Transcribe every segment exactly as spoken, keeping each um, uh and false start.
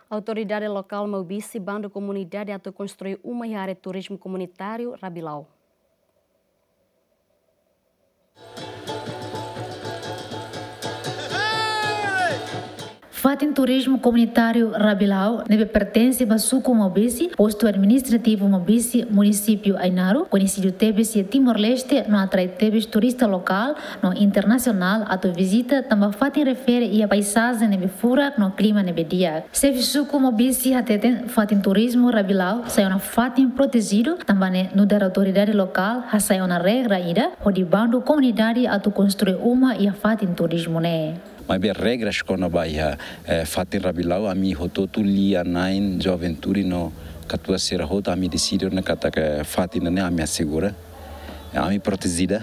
Autoridade lokál Maubisse bandu komunidade atu konstrui uma iha área turizmu komunitáriu Rabilau. Fatin turizmu komunitáriu Rabilau ne'ebé pertense ba suku Maubisse, postu administrativu Maubisse, munisípiu Ainaro, koñesidu tebes iha Timor-Leste, no atrai tebes turista lokál no internasionál atu vizita tanba fatin refere iha paizajen ne'ebé furak no klima ne'ebé di'ak. Xefe suku Maubisse hateten fatin turizmu Rabilau sai ona fatin protejidu, tanba ne'e nu'udar autoridade lokál hasai ona regra ida hodi bandu komunidade atu konstrui uma iha fatin turizmu ne'e. Maibé regras kona-ba iha, eh, fatin Rabilau, ami hotu-hotu, lia-na'in, juventude no katuas sira hotu, ami deside ona katak fatin ne'e ami asegura, ami protejida.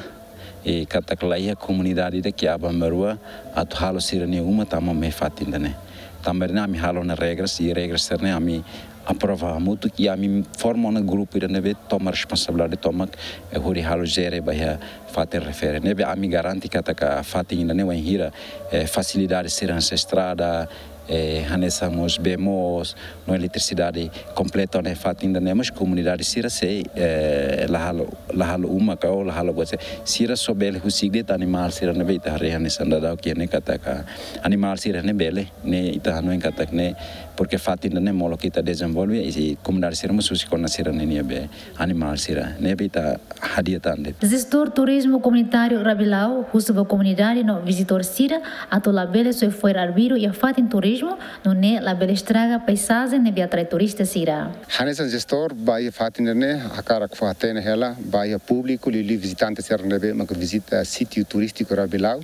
I katak la iha komunidade ida ke aban-bainrua atu halo sira-nia uma tama mai fatin ida-ne'e. Tanba ne'e ami halo ona regras, i regras sira-ne'e ami aprova hamutuk, i ami forma ona grupu ida ne'ebé toma responsabilidade tomak, eh, hodi halo jere ba iha fatin refere. Ne'ebé ami garante katak fatin ida-ne'e wainhira, eh, fasilidade sira hanesan estrada, eh, hanesan mós bee moos, no eletrisidade kompleta ona iha fatin ida-ne'e, mas komunidade sira sei, eh, la halo, la halo uma ka, ou la halo buat sira. Sira só bele husik de'it animál sira ne'ebé ita haree hanesan daudaun iha ne'e katak animál sira ne'e bele, ne'e ita hanoin katak ne'e, porke fatin ida-ne'e molok ita dezenvolve, i komunidade sira mós husik ona sira-nia bee, animál sira. Ne'ebé ita hadi'a tan de'it. Jestór turizmu komunitáriu Rabilau husu ba komunidade no vizitór sira atu labele soe fo'er arbiru iha fatin turizmu, nune'e labele estraga paizajen ne'ebé atrai turista sira. Hanesan jestór ba iha fatin ida-ne'e, hakarak fó-hatene hela ba iha públiku, liuliu vizitante sira ne'ebé mak vizita sítiu turístiku Rabilau,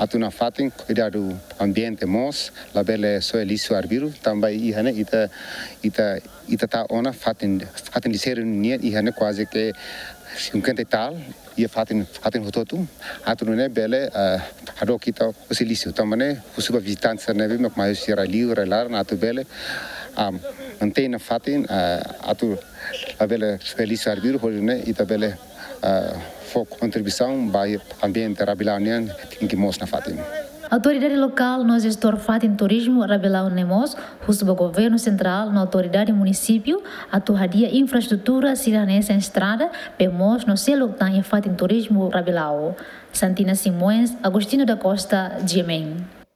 atu nafatin kuidadu ambiente mós, labele soe lixu arbiru, tanba iha ne'e ita, ita, ita tau ona fatin, fatin lixeiru nian iha ne'e kuaze ke cinquenta e tal, iha fatin, fatin hotu-hotu, atu nune'e bele, eh, hadook ita husi lixu, tanba ne'e husu ba vizitante sira ne'ebé mak mai husi rai-li'ur, rai-laran atu bele, ah, mantein ona fatin, eh, atu labele soe lixu arbiru, hodi nune'e ita bele, eh, fó kontribuisaun ba iha ambiente Rabilau nian, tenke moos nafatin. Autoridade lokál no jestór fatin turizmu Rabilau ne'e mós husu ba governu sentrál no autoridade munisípiu atu hadi'a infraestrutura sira hanesan estrada, bee moos no seluk tan iha fatin turizmu Rabilau. Santina Simões, Agostinho da Costa, G M N.